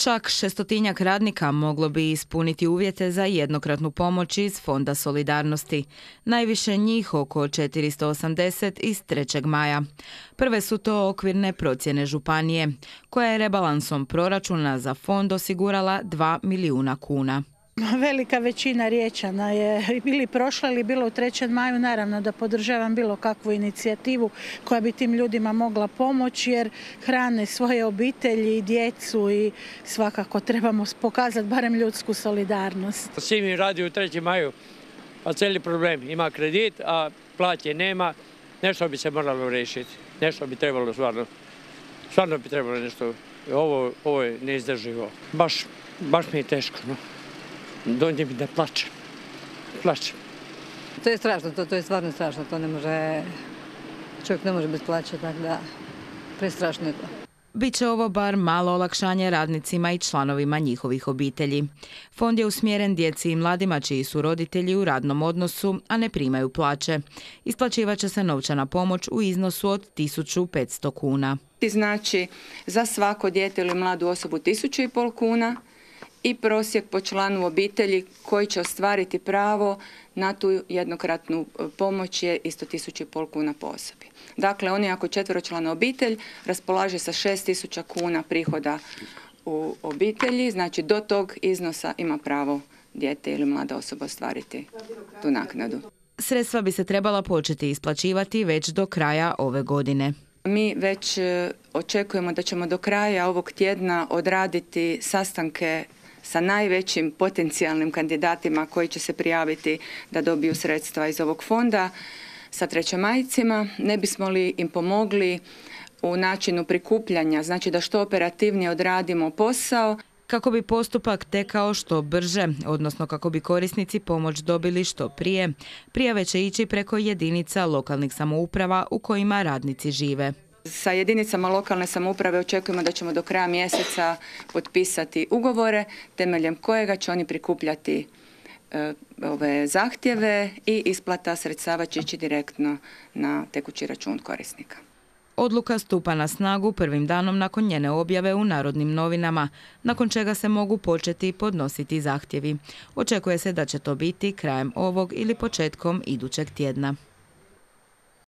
Čak 600-tinjak radnika moglo bi ispuniti uvjete za jednokratnu pomoć iz Fonda solidarnosti. Najviše njih, oko 480 iz 3. maja. Prve su to okvirne procjene županije, koja je rebalansom proračuna za fond osigurala 2 milijuna kuna. Velika većina Riječana je ili prošla ili bilo u 3. maju. Naravno da podržavam bilo kakvu inicijativu koja bi tim ljudima mogla pomoći jer hrane svoje obitelji i djecu i svakako trebamo pokazati barem ljudsku solidarnost. Svi mi radi u 3. maju, a cijeli problem. Ima kredit, a plaće nema. Nešto bi se moralo riješiti. Nešto bi trebalo stvarno. Stvarno bi trebalo nešto. Ovo je neizdrživo. Baš mi je teško. No. Dođe mi da plačem. To je strašno, to je stvarno strašno, to ne može, čovjek ne može bez plaće, tako da prestrašno je to. Biće ovo bar malo olakšanje radnicima i članovima njihovih obitelji. Fond je usmjeren djeci i mladima čiji su roditelji u radnom odnosu, a ne primaju plaće. Isplaćivaće se novčana pomoć u iznosu od 1500 kuna. Znači za svako dijete ili mladu osobu 1500 kuna. I prosjek po članu obitelji koji će ostvariti pravo na tu jednokratnu pomoć je isto 1500 kuna po osobi. Dakle, oni ako četveročlana obitelj raspolaže sa 6000 kuna prihoda u obitelji, znači do tog iznosa ima pravo dijete ili mlada osoba ostvariti tu naknadu. Sredstva bi se trebala početi isplaćivati već do kraja ove godine. Mi već očekujemo da ćemo do kraja ovog tjedna odraditi sastanke sa najvećim potencijalnim kandidatima koji će se prijaviti da dobiju sredstva iz ovog fonda sa trećemajcima. Ne bismo li im pomogli u načinu prikupljanja, znači da što operativnije odradimo posao. Kako bi postupak tekao što brže, odnosno kako bi korisnici pomoć dobili što prije, prijave će ići preko jedinica lokalnih samouprava u kojima radnici žive. Sa jedinicama lokalne samouprave očekujemo da ćemo do kraja mjeseca potpisati ugovore temeljem kojega će oni prikupljati ove zahtjeve i isplata sredstava će ići direktno na tekući račun korisnika. Odluka stupa na snagu prvim danom nakon njene objave u Narodnim novinama, nakon čega se mogu početi podnositi zahtjevi. Očekuje se da će to biti krajem ovog ili početkom idućeg tjedna.